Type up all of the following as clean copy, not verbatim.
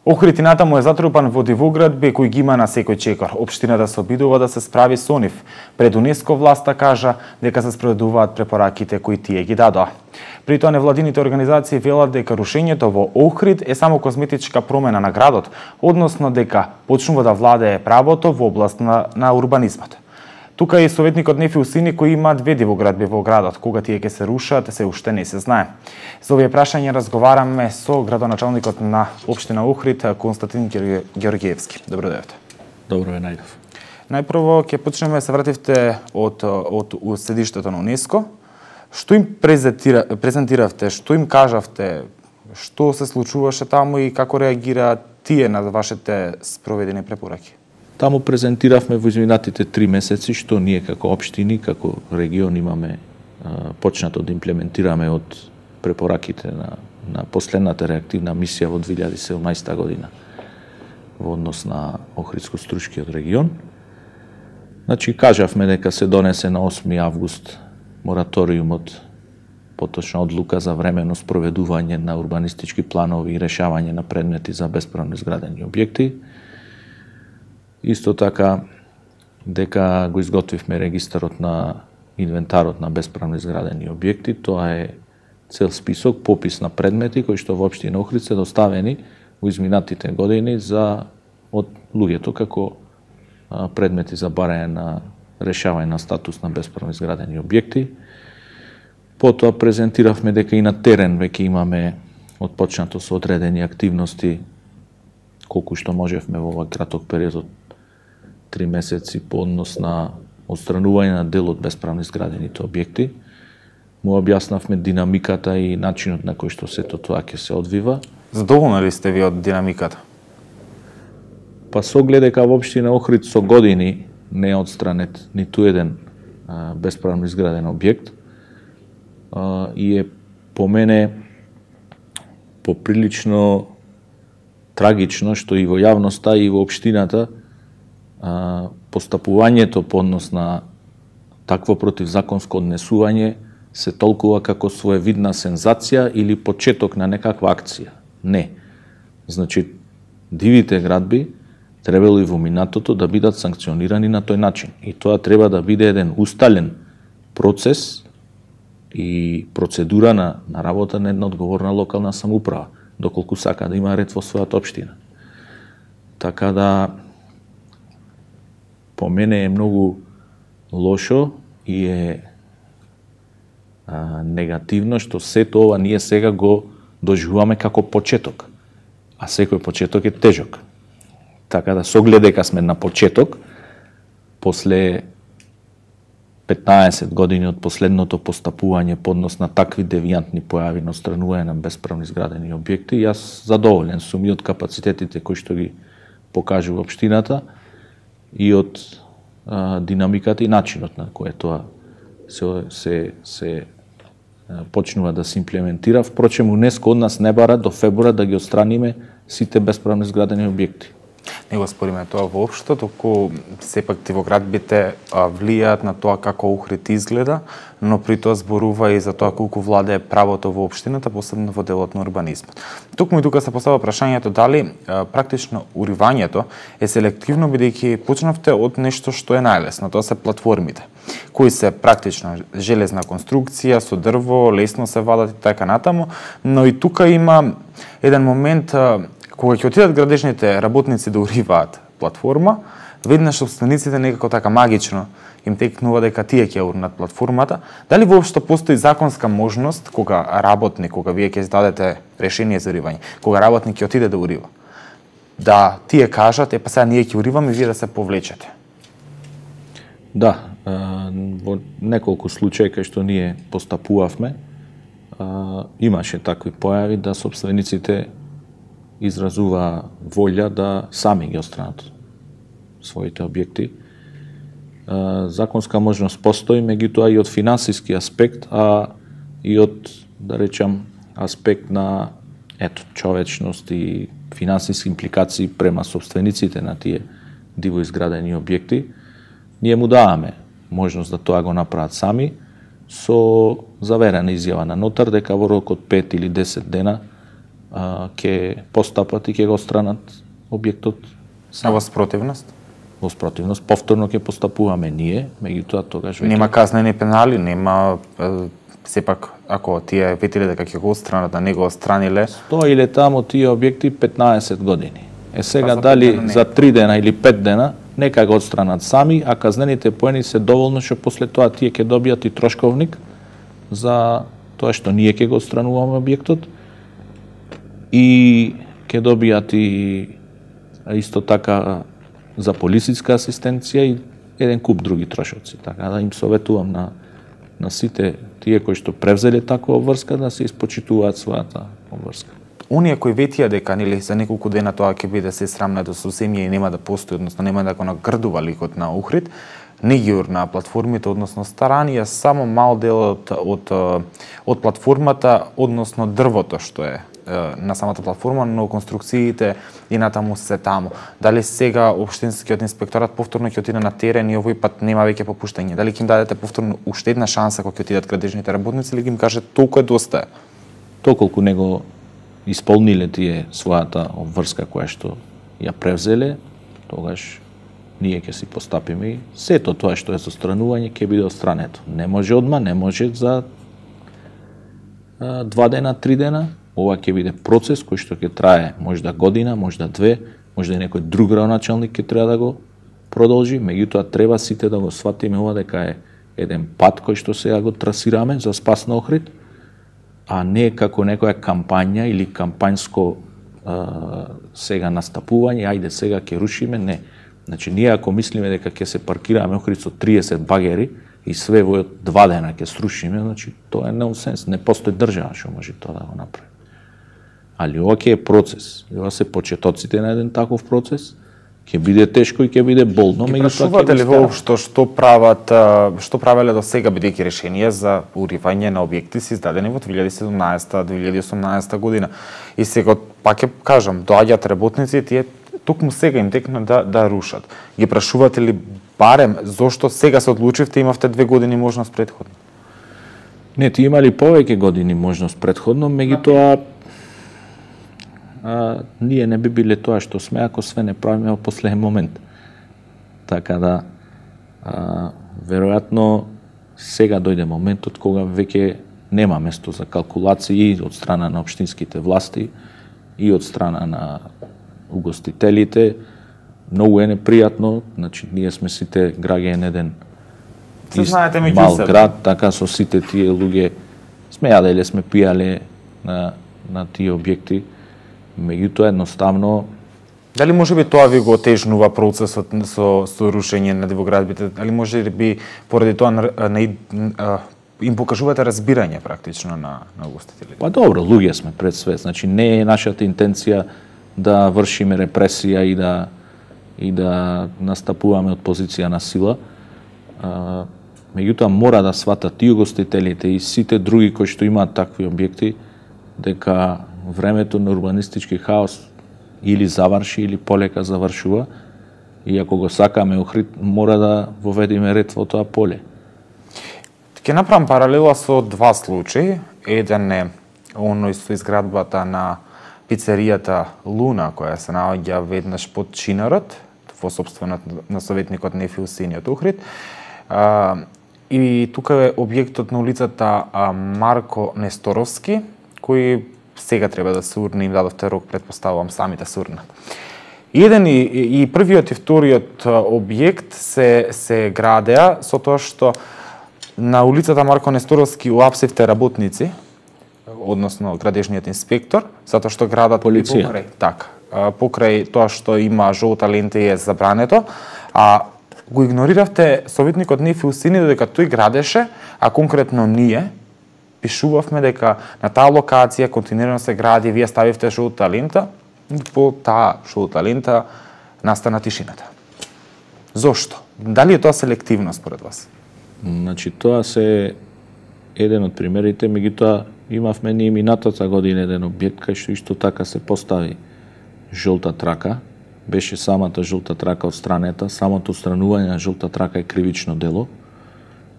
Охрид и натаму е затрупан во дивоградби кој ги има на секој чекор. Општината се обидува да се справи со нив. Пред УНЕСКО власта кажа дека се спроведуваат препораките кои тие ги дадоа. При тоа невладините организации велат дека рушењето во Охрид е само козметичка промена на градот, односно дека почнува да владее правото во област на урбанизмот. Тука е и советникот Нефи Усини кој има 2 дивоградби во градот. Кога тие ќе се рушат, се уште не се знае. За овие прашања разговараме со градоначалникот на општина Охрид, Константин Георгиевски. Добро дојдовте. Добро ве најдов. Најпрво ќе почнеме, се вративте од седиштето на УНЕСКО. Што им презентиравте, што им кажавте, што се случуваше таму и како реагираат тие на вашите спроведени препораки? Таму презентиравме во изминатите 3 месеци што ние како општини, како регион имаме почнато да имплементираме од препораките на последната реактивна мисија во 2017 година во однос на Охридско-Струшкиот регион. Значи, кажавме дека се донесе на 8 август мораториумот, поточна одлука за временно спроведување на урбанистички планови и решавање на предмети за бесправно изградени објекти. Исто така дека го изготвивме регистарот на инвентарот на бесправно изградени објекти. Тоа е цел список, попис на предмети кои што во општина Охрид се доставени во изминатите години од луѓето како предмети за барање на решавање на статус на бесправно изградени објекти. Потоа презентиравме дека и на терен веќе имаме отпочнато со одредени активности колку што можевме во овој краток период од 3 месеци по однос на отстранување на дел од бесправно изградените објекти. Му објаснавме динамиката и начинот на кој што сето тоа ќе се одвива. Задоволни ли сте ви од динамиката? Па со оглед дека во општина Охрид со години не е отстранет ниту еден бесправно изграден објект и е по мене поприлично трагично што и во јавноста и во општината постапувањето по однос на такво противзаконско однесување се толкува како своевидна сензација или почеток на некаква акција. Не. Значи, дивите градби требало и во минатото да бидат санкционирани на тој начин. И тоа треба да биде еден устален процес и процедура на работа на една одговорна локална самоуправа, доколку сака да има ред во својата општина. Така да, по мене е многу лошо и е негативно што сето ова ние сега го доживуваме како почеток, а секој почеток е тежок. Така да, со оглед дека сме на почеток, после 15 години од последното постапување по однос на такви девијантни појави на отстранување на бесправно изградени објекти, јас задоволен сум и од капацитетите кои што ги покажува општината и од динамиката и начинот на кој тоа се почнува да се имплементира. Впрочем, УНЕСКО од нас не бара до февруар да ги отстраниме сите бесправно изградени објекти. Не го спориме тоа воопшто, туку сепак дивоградбите влијаат на тоа како Охрид изгледа, но при тоа зборува и за тоа колку владее правото во општината, посебно во делот на урбанизмот. Токму и тука се поставува прашањето дали практично уривањето е селективно, бидејќи почнавте од нешто што е најлесно, тоа се платформите, кои се практично железна конструкција со дрво, лесно се вадат и така натаму, но и тука има еден момент кога ќе отидат градежните работници да уриваат платформа, веднаш собствениците некако така магично им текнува дека тие ќе урнат платформата. Дали воопшто постои законска можност кога работник, кога вие ќе издадете решение за уривање, кога работник ќе отиде да урива, да тие кажат, па сега ние ќе уриваме и вие да се повлечете? Да, во неколку случаи кај што ние постапувавме, имаше такви појави да собствениците изразува волја да сами ги отстранат своите објекти. Законска можност постои, меѓутоа и од финансиски аспект, а и од, да речам, аспект на човечност и финансиски импликации према собствениците на тие диво изградени објекти, ние му даваме можност да тоа го направат сами со заверена изјава на нотар дека во рок од 5 или 10 дена ќе постапат и ќе го странат објектот. А во спротивност? Во спротивност повторно ќе постапуваме ние, меѓутоа тогаш веќе нема казнени пенали, нема сепак ако тие ветиле дека ќе го отстранат, да не го отстраниле. Стоиле таму тие објекти 15 години. Сега дали за 3 дена или 5 дена, нека го отстранат сами, а казнените поени се доволно што после тоа тие ќе добијат и трошковник за тоа што ние ќе го отстрануваме објектот и ќе добијат и исто така за полициска асистенција и еден куп други трошоци. Така да им советувам на сите тие кои што превзеле таква обврска да се испочитуваат својата обврска. Оние кои ветија дека нели за неколку дена тоа ќе биде се срамнето со семја и нема да постои, односно нема да го нагрдува ликот на Охрид, не ги урна платформите, односно старанија само мал дел од платформата, односно дрвото што е на самата платформа, но конструкциите и натаму се таму. Дали сега општинскиот инспекторат повторно ќе отиде на терен и овој пат нема веќе попуштање? Дали ќе им дадете повторно уште една шанса кога ќе отидат градежните работници или ќе им кажете толку е доста? Толку него исполниле тие својата обврска која што ја превзеле, тогаш ние ќе си постапиме и сето тоа што е со странување ќе биде отстрането. Не може одма, не може за 2 дена, 3 дена. Ова ќе биде процес кој што ќе трае можда година, можда 2, можда и некој друг градоначалник ќе треба да го продолжи, меѓутоа треба сите да го сватиме ова дека е еден пат кој што сега го трасираме за спас на Охрид, а не како некоја кампања или кампањско сега настапување, ајде сега ќе рушиме, не. Значи ние ако мислиме дека ќе се паркираме Охрид со 30 багери и све во 2 дена ќе срушиме, значи тоа е нонсенс, не постои држава што може тоа да го направи. Али ова ќе е процес. Ова се почетоците на еден таков процес. Ќе биде тешко и ќе биде болно, меѓутоа ќе ли воопшто што правеле до сега, бидејќи решенија за уривање на објекти се издадени во 2017-2018 година. И сега пак ќе кажам, доаѓаат работници и тие токму сега им текна да рушат. Ги прашувате ли барем зошто сега се одлучивте, имавте 2 години можност претходно? Не, ти имали повеќе години можност претходно, меѓутоа ние не би биле тоа што сме ако све не правиме во последен момент. Така да веројатно сега дојде моментот кога веќе нема место за калкулации од страна на општинските власти и од страна на угостителите. Многу е непријатно, значи ние сме сите граѓани на еден мал град, така со сите тие луѓе сме јаделе, сме пијале на тие објекти. Меѓутоа едноставно дали може би тоа ви го отежнува процесот со рушење на дивоградбите? Дали може би поради тоа им покажувате разбирање практично на угостителите? Па добро, луѓе сме пред све, значи не е нашата интенција да вршиме репресија и да настапуваме од позиција на сила. Меѓутоа мора да сватат и угостителите и сите други кои што имаат такви објекти дека времето на урбанистички хаос или заврши или полека завршува и ако го сакаме Охрид мора да воведеме ред во тоа поле. Ќе направам паралела со 2 случаи. Еден е оној со изградбата на пицеријата Луна која се наоѓа веднаш под Чинарот во сопственост на советникот Нефи Усениот Охрид. И тука е објектот на улицата Марко Несторовски кој сега треба да се урне, им дадовте рок, предпоставувам сами да се урнат. Еден и првиот и вториот објект се градеа со тоа што на улицата Марко Несторовски уапсивте работници, односно градежниот инспектор, затоа што градат полиција. Покрај тоа што има жолта лента и е забрането, а го игнориравте советникот Нефи Усени додека тој градеше, а конкретно ние пишувавме дека на таа локација континуирано се гради, вие ставивте жолта лента, по таа жолта лента настана тишината. Зошто? Дали е тоа селективно според вас? Значи тоа се еден од примерите, меѓутоа имавме ние минатата година еден објект кај што исто така се постави жолта трака, беше самата жолта трака отстранета, самото отстранување на жолта трака е кривично дело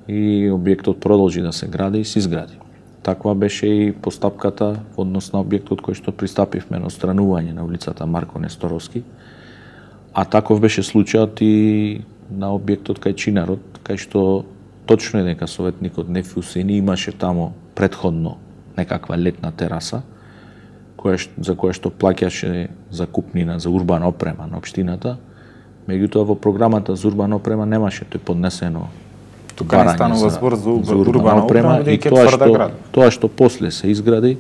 и објектот продолжи да се гради и се изгради. таква беше и постапката во однос на објектот кој што пристапивме на отстранување на улицата Марко Несторовски. А таков беше случајот и на објектот кај Чинарот, кај што точно е дека советникот Нефи Усени имаше таму претходно некаква летна тераса, за која што плаќаше закупнина за урбана опрема на општината. Меѓутоа во програмата за урбана опрема немаше тој поднесено тука не станува збор за урбана опрема и тоа што после се изгради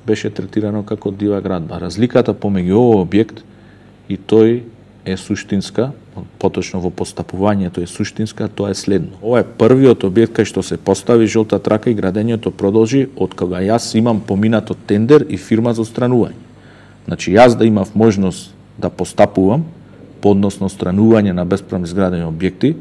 беше третирано како дива градба. Разликата помеѓу овој објект и тој е суштинска, поточно во постапувањето е суштинска, тоа е следно. Ова е првиот објект кај што се постави жолта трака и градењето продолжи од кога јас имам поминато тендер и фирма за отстранување. Значи јас да имав можност да постапувам по однос на отстранување на бесправно изградени објекти,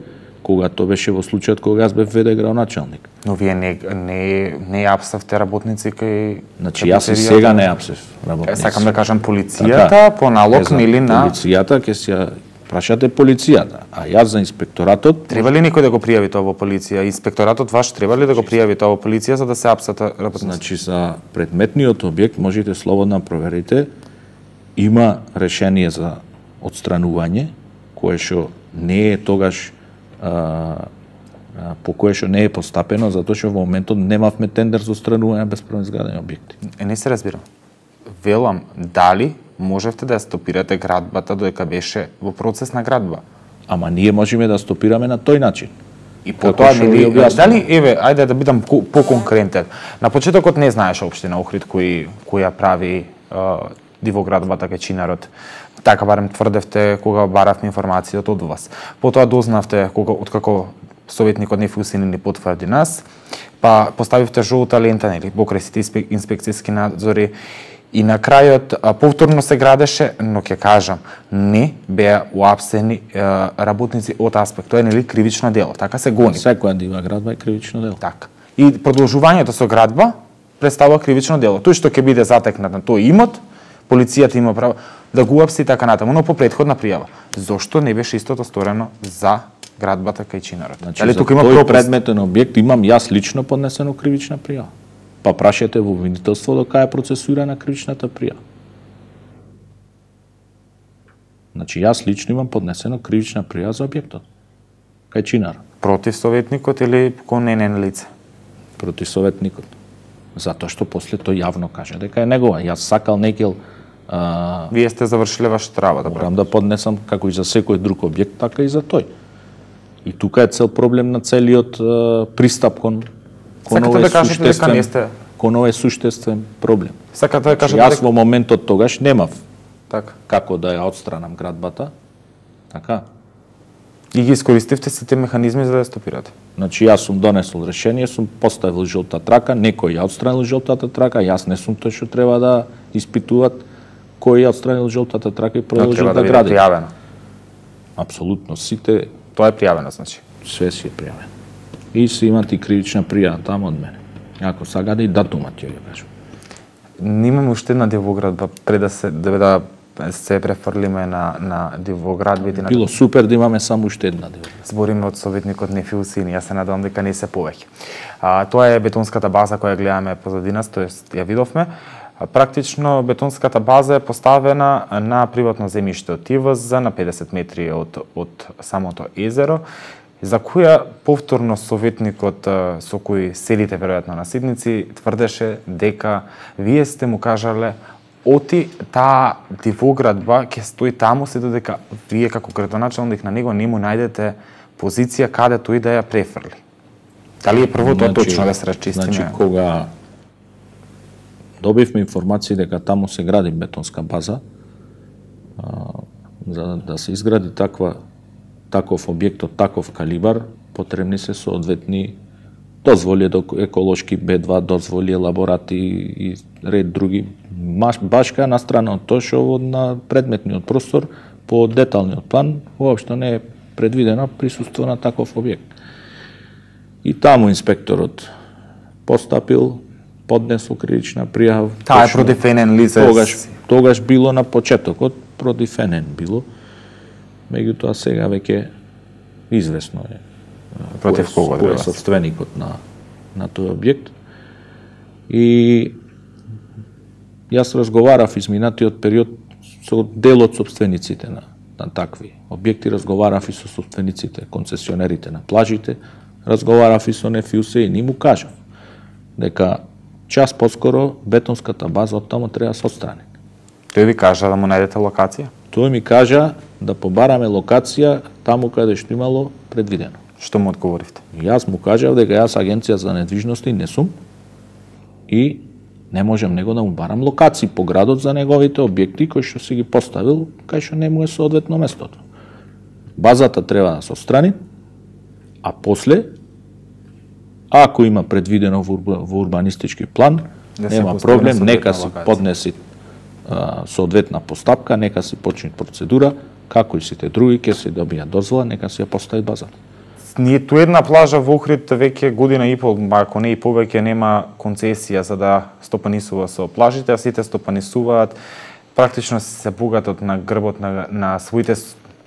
кога тоа беше во случајот кога јас бев ВД градоначалник. Но вие не апсавте работници кај... Значи јас и сега не апсев работници. Сакам да кажам полицијата по налог или на... Полицијата ќе се прашате полицијата, а јас за инспекторатот... Треба ли некој да го пријави тоа во полиција? Инспекторатот ваш треба ли да го пријави тоа во полиција за да се апсат работници? Значи за предметниот објект можете слободно проверите, има решение за отстранување кое што не е тогаш по кое што не е постапено, затоа што во моментот немавме тендер за отстранување на бесправно изградени објекти. Не се разбирам. Велам, дали можевте да ја стопирате градбата додека беше во процес на градба? Ама ние можеме да стопираме на тој начин. И потоа дали еве, ајде да бидам поконкретен. На почетокот не знаеше општина Охрид која прави дивоградбата кај Чинарот. Така барем тврдевте кога баравме информацијата од вас. Потоа дознавте откако советникот Нефи Усени ни потврди нас, па поставивте жолта лента нели покрај сите инспекцијски надзори и на крајот повторно се градеше, но ќе кажам, не беа уапсени работници од аспект. Тоа е нели кривично дело, така се гони. Секоја дива градба е кривично дело. Така. И продолжувањето со градба представува кривично дело. Тој што ќе биде затекнат на тој имот, полицијата има право да го уапси така натаму, но по претходна пријава. Зошто не беше истото сторено за градбата кај Чинарот? Значи, за тој предметен објект имам јас лично поднесено кривична пријава. Па прашете во обвинителство до кај е процесуирана кривичната пријава. Значи јас лично имам поднесено кривична пријава за објектот кај Чинар. Против советникот или кон ненен лице? Против советникот. Затоа што после тој јавно кажа дека е негова. Јас сакал некел вие сте завршиле вашата работа. Морам да поднесам како и за секој друг објект, така и за тој. И тука е цел проблем на целиот пристап кон овој суштествен проблем. Сакате да кажете јас во моментот тогаш немав така како да ја отстранам градбата. Така. И ги искористивте сите механизми за да ја стопирате. Значи јас сум донесол решение, сум поставил жолта трака, некој ја отстранил жолтата трака, јас не сум тој што треба да испитуваат кој ја отстранил жолтата трака и продолжил да гради. Пријавено. Апсолутно сите. Тоа е пријавено, значи. Све си е пријавено. И си имате кривична пријава таму од мене. Ако сагаде и датумат ќе ја кажам. Немаме уште една дивоградба пред да се префрлиме на дивоградбите. Било супер да имаме само уште една дивоградба. Збориме од советникот Нефи Усени, јас се надевам дека не се повеќе. Тоа е бетонската база која гледаме позади нас, тоест ја видовме. Практично бетонската база е поставена на приватно земјиште од ТИВЗ на 50 метри од самото езеро, за која повторно советникот со кој седите веројатно на седници тврдеше дека вие сте му кажале оти таа дивоградба ќе стои таму се додека вие како градоначалник на него не му најдете позиција каде тој да ја префрли. Дали е прво тоа точно да се расчистиме? Значи кога добивме информации дека таму се гради бетонска база, за да се изгради таков објект од таков калибар, потребни се соодветни дозволи до еколошки Б2, дозволи елаборати и ред други. Башка на страна од тоа што на предметниот простор по деталниот план воопшто не е предвидено присуство на таков објект. И таму инспекторот постапил, поднесол кривична пријава. Таа е против НН лице. Тогаш било на почетокот против НН било. Меѓутоа сега веќе известно е против кого е собственикот на тој објект. И јас разговарав изминатиот период со дел од собствениците на такви објекти, разговарав и со собствениците, концесионерите на плажите, разговарав и со НФУС и ни му кажав дека час поскоро бетонската база од таму треба да се отстрани. Тој ви кажа да му најдете локација? Тој ми кажа да побараме локација таму каде што имало предвидено. Што му одговоривте? Јас му кажав дека јас агенција за недвижности не сум и не можам него да му барам локации по градот за неговите објекти кои што си ги поставил, кај што не му е соодветно местото. Базата треба да се отстрани, а после, ако има предвидено во урбанистички план, нема проблем, нека се поднеси соодветна постапка, нека се почне процедура, како и сите други ќе се добија дозвола, нека се ја постави базата. Ние ту една плажа во Охрид веќе година и пол, ако не и повеќе, нема концесија за да стопанисува со плажите, а сите стопанисуваат практично се богатот на грбот на своите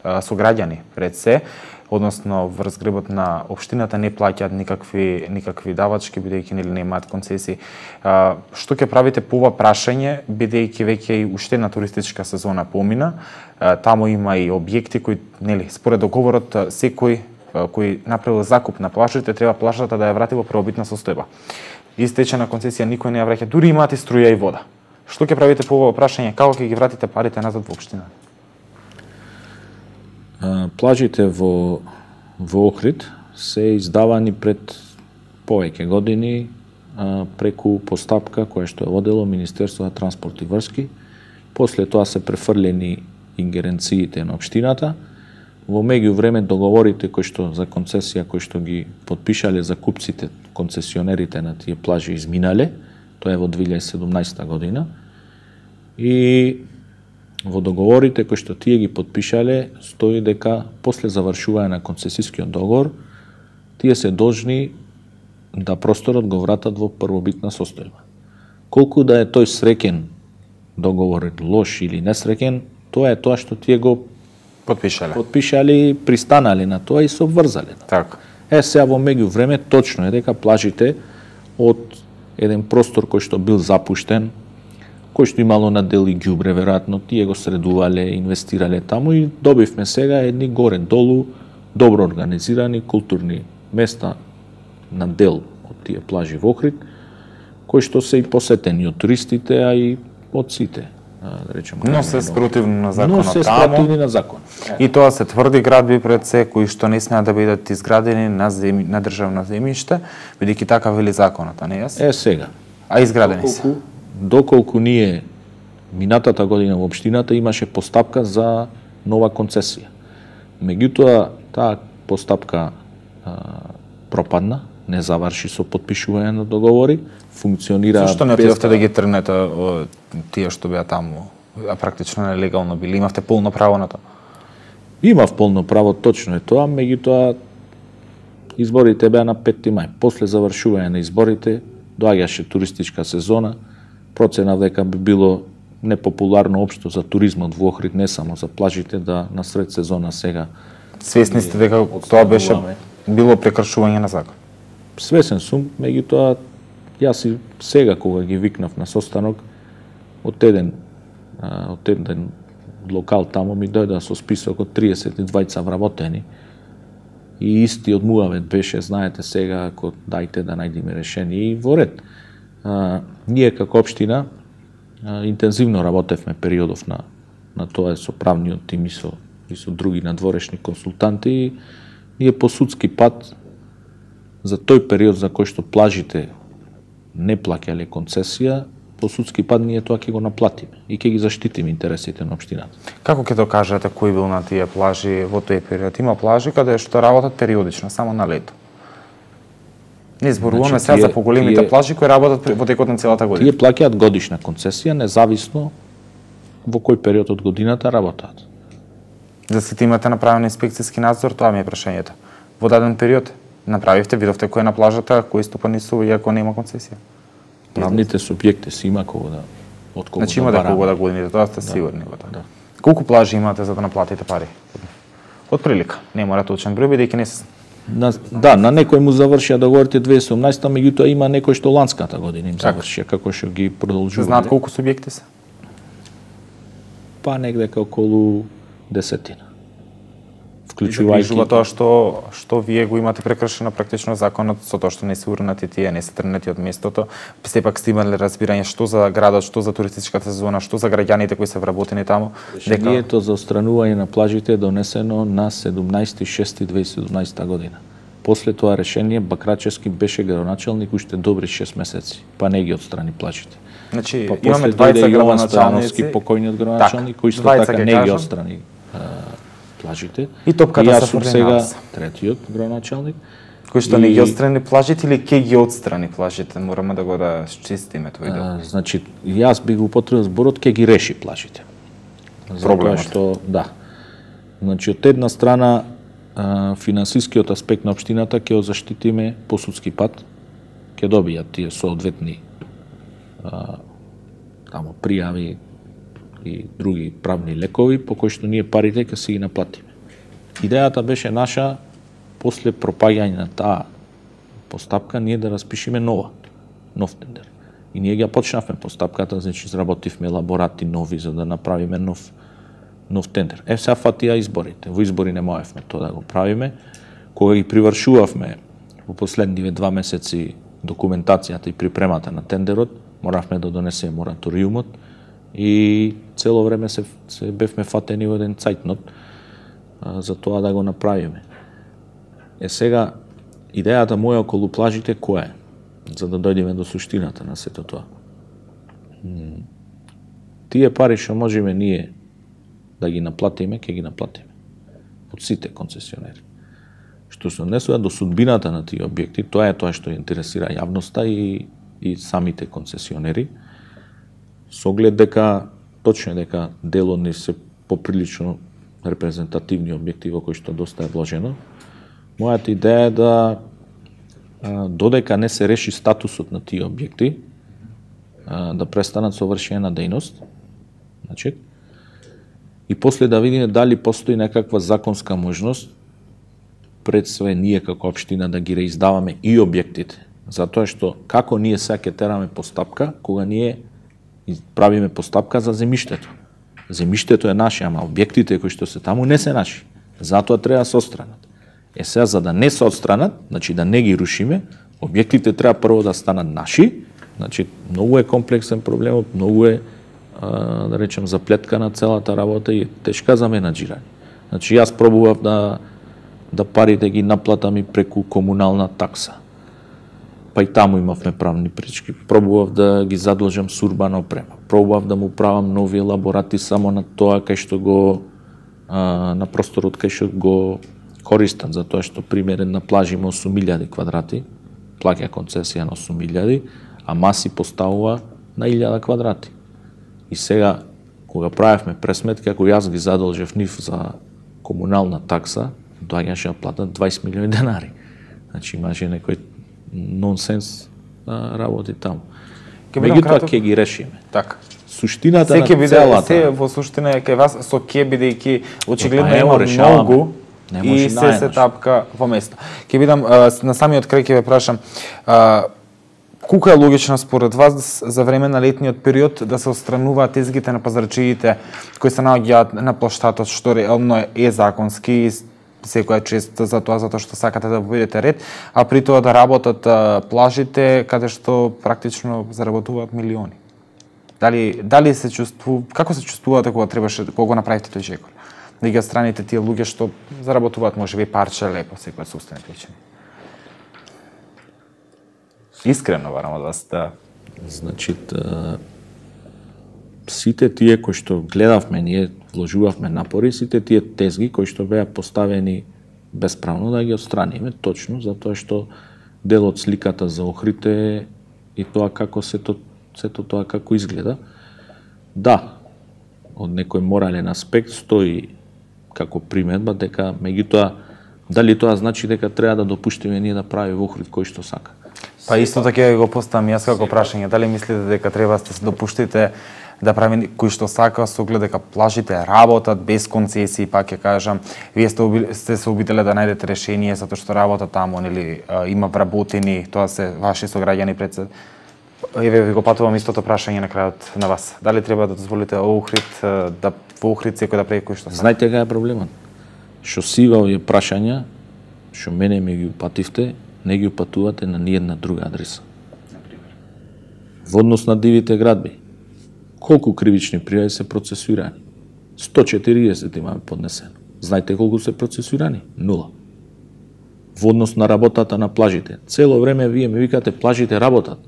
сограѓани пред се, односно врз грбот на општината не плаќаат никакви давачки бидејќи нели немаат концесии. Што ќе правите по ова прашање, бидејќи веќе и уште една туристичка сезона помина, таму има и објекти кои нели според договорот секој кој направил закуп на плажите, треба плажата да ја врати во првобитна состојба. Истечена концесија никој не ја враќа, дури имаат и струја и вода. Што ќе правите по ова прашање? Како ќе ги вратите парите назад во општината? Плажите во Охрид се издавани пред повеќе години преку постапка која што е водело Министерство за транспорт и врски. После тоа се префрлени ингеренциите на општината. Во меѓувреме договорите кои што за концесија кои што ги потпишале закупците, концесионерите на тие плажи изминале, тоа е во 2017 година. И во договорите кои што тие ги потпишале стои дека после завршување на концесискиот договор тие се должни да просторот го вратат во првобитна состојба. Колку да е тој среќен договор, лош или несреќен, тоа е тоа што тие го потпишале, пристанале на тоа и се обврзале. Така. Сега во меѓувреме точно е дека плажите од еден простор кој што бил запуштен, кој што имало на дел и ѓубре, веројатно тие го средувале, инвестирале таму и добивме сега едни горе-долу добро организирани културни места на дел од тие плажи во Охрид, кои што се и посетени од туристите, а и од сите. Да речеме, но се спротивно на законот. Но се спротивни на закон. И тоа се тврди градби пред се кои што не смеат да бидат изградени на државно земјиште, бидејќи така вели законот, а не јас? Сега. А изградени се. Доколку ние минатата година во општината имаше постапка за нова концесија. Меѓутоа таа постапка пропадна, не заврши со потпишување на договори, функционира. Зашто не отидовте да ги тргнете тие што беа таму, а практично нелегално били? Имавте полно право на тоа? Имав полно право, точно е тоа, меѓутоа изборите беа на 5 мај. После завршување на изборите доаѓаше туристичка сезона, проценав дека би било непопуларно општо за туризмот во Охрид, не само за плажите, да на сред сезона сега. Свесни сте дека тоа беше било прекршување на закон? Свесен сум, меѓутоа јас и сега кога ги викнав на состанок, од еден локал таму ми дојде со список од 32 вработени и истиот муавет беше, знаете сега, ако дајте да најдеме решение и во ред. Ние како општина интензивно работевме периодов на тоа со правниот тим и со други надворешни консултанти и ние по судски пат за тој период за кој што плажите не плаќале концесија, по судски пат ние тоа ќе го наплатиме и ќе ги заштитиме интересите на општината. Како ќе докажете кој бил на тие плажи во тој период? Има плажи каде што работат периодично, само на лето. Не зборуваме сега за поголемите плажи кои работат во текот на целата година. Тие плаќаат годишна концесија, независно во кој период од годината работат. За сите имате направен инспекцијски надзор, тоа ми е прашањето. Во даден период направивте, видовте кој е на плажата, кој стопанисува иако нема концесија? Правните субјекти си има кого да од кого значи, има да кого да годините, тоа сте сигурни во тоа. Да. Колку плажи имате за да наплатите пари? Од прилика, не мора точен број, бидејќи не се на некој му завршија договорите 2018, меѓутоа има некој што ланската година им завршија, како што ги продолжува. Знаат колку субјекти се? Па негде околу 10. Вклучувајќи тоа што вие го имате прекршено практично законот со тоа што не се урнати тие, не се тргнати од местото. Сепак сте имале разбирање што за градот, што за туристичката сезона, што за граѓаните кои се вработени таму. Решението за отстранување на плажите е донесено на 17.6.2017 година. После тоа решение Бакрачевски беше градоначалник уште добри 6 месеци, па не ги отстрани плажите. Значи па имаме двајца градоначалници, покојниот градоначалник, кој исто така не ги отстрани плажите. И топката се фрли сега третиот градоначалник кој што не ги отстрани плажите или ќе ги отстрани плажите, мораме да го чистиме тој дел. Значи јас би го употребил зборот ќе ги реши плажите. Проблемот што Значи од една страна финансискиот аспект на општината ќе го заштитиме по судски пат, ќе добијат тие соодветни тамо пријави и други правни лекови по кои што ние парите ќе си ги наплатиме. Идејата беше наша после пропаѓање на таа постапка ние да распишеме нов тендер. И ние ја почнавме постапката, значи изработивме елаборати нови за да направиме нов тендер. Сега фатија изборите. Во избори не можевме тоа да го правиме. Кога ги привршувавме во последниве 2 месеци документацијата и припремата на тендерот, моравме да донесеме мораториумот и цело време се бевме фатени во еден цајтнот за тоа да го направиме. Сега, идејата моја околу плажите која е? За да дојдеме до суштината на сето тоа. Тие пари што можеме ние да ги наплатиме, ќе ги наплатиме. Од сите концесионери. Што се однесува до судбината на тие објекти, тоа е тоа што интересира јавноста и самите концесионери. Со оглед дека, точно дека дел од нив се поприлично репрезентативни објекти во кои што доста е вложено, мојата идеја е да додека не се реши статусот на тие објекти, да престанат со вршење на дејност, значи, и после да видиме дали постои некаква законска можност пред све ние како општина да ги реиздаваме и објектите. Затоа што како ние сега ќе тераме постапка, кога ние правиме постапка за земјиштето. Земјиштето е наше, ама објектите кои што се таму не се наши. Затоа треба да се отстранат. Сега за да не се отстранат, значи да не ги рушиме, објектите треба прво да станат наши. Значи многу е комплексен проблемот, многу е да речем заплетка на целата работа и тешка за менаџирање. Значи јас пробував да парите ги наплатам и преку комунална такса. Па и таму имавме правни пречки. Пробував да ги задолжам с урбана опрема. Пробував да му правам нови елаборати само на тоа кај што го на просторот кај што го користам, затоа што примерен на плажа има 8.000 квадрати, плаќа концесија на 8.000, а маси поставува на 1.000 квадрати. И сега, кога правевме пресметки, ако јас ги задолжев нив за комунална такса, доаѓаше да платат 20 милиони денари. Значи имаше некој нонсенс работи таму. Меѓутоа ќе ги решиме. Така. Суштината на целата. Се во суштина е кај вас со ке бидејќи очигледно има многу и се тапка во место. Ќе бидам на самиот крај ќе ве прашам колку е логично според вас за време на летниот период да се отстрануваат тезгите на пазарчиите кои се наоѓаат на плоштатот што реално е законски и секоја чест за тоа затоа што сакате да поведете ред, а при тоа да работат плажите каде што практично заработуваат милиони. Дали се чувствува, како се чувствувате кога требаше кога го направите тој чекор? Да ги отстраните тие луѓе што заработуваат можеби парче лепо секоја собствена причина. Искрено барам од вас да. Значи, сите тие кои што гледавме, ние вложувавме напори, сите тие тезги кои што беа поставени бесправно да ги отстраниме, точно затоа што дел од сликата за Охрид и тоа како сето тоа како изгледа. Да, од некој морален аспект стои како приметба дека меѓутоа дали тоа значи дека треба да допуштиме ние да прави во Охрид кој што сака. Па исто така го поставам јас како прашање, дали мислите дека треба да се допуштите да прави кој што сака со оглед дека плажите работат без концесии, пак ќе кажам, вие сте се обиделе да најдете решение затоа што работа таму, нели, има вработени, тоа се ваши сограѓани пред се. Еве ви го патувам истото прашање на крајот на вас. Дали треба да дозволите Охрид да во Охрид секој да прави кој што сака? Знаете кај е проблемот? Што сива овие прашања, што мене ми ги упативте, не ги упатувате на ниедна друга адреса. Во однос на дивите градби, колку кривични пријави се процесуирани? 140 имаме поднесено. Знаете колку се процесуирани? 0. Во однос на работата на плажите, цело време вие ми викате плажите работат.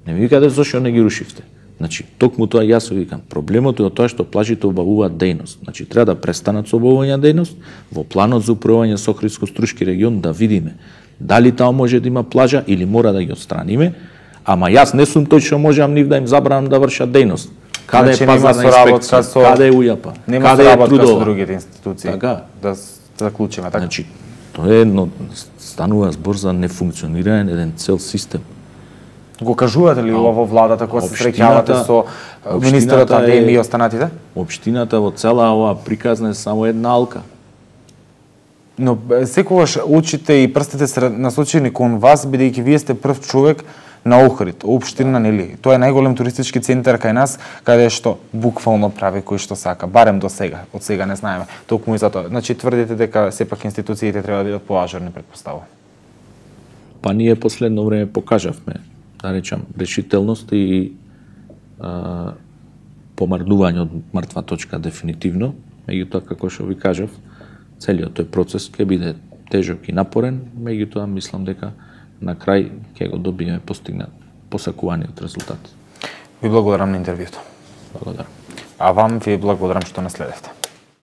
Не ми викате зашто не ги рушивте. Значи, токму тоа јас ви викам. Проблемот е од тоа што плажите обавуваат дејност. Значи, треба да престанат со обавување дејност, во планот за управување со Охридско-Струшки регион да видиме дали таму може да има плажа или мора да ги отстраниме, ама јас не сум тој што можам нив да им забранам да вршат дејност. Каде е пазарна инспекција? Каде е УЈАП? Нема соработка со другите институции. Така. Да заклучиме така. Значи, тоа е едно, станува збор за нефункционирање на еден цел систем. Го кажувате ли во владата кога се среќавате со министерот Адеми и останатите? Општината во цела оваа приказна е само една алка. Но секогаш очите и прстите се насочени кон вас, бидејќи вие сте прв човек на Охрид, општина, нели? Тоа е најголем туристички центар кај нас, каде што буквално прави кој што сака, барем до сега, од сега не знаеме. Токму и затоа. Значи тврдите дека сепак институциите треба да бидат поажарни, претпоставувам. Па ние последно време покажавме, да речам, решителност и помарнување од мртва точка дефинитивно, меѓутоа како што ви кажав, целиот тој процес ќе биде тежок и напорен, меѓутоа мислам дека на крај ќе го добиеме постигнат посакуваниот резултат. Ви благодарам на интервјуто. Благодарам. А вам ви благодарам што наследевте.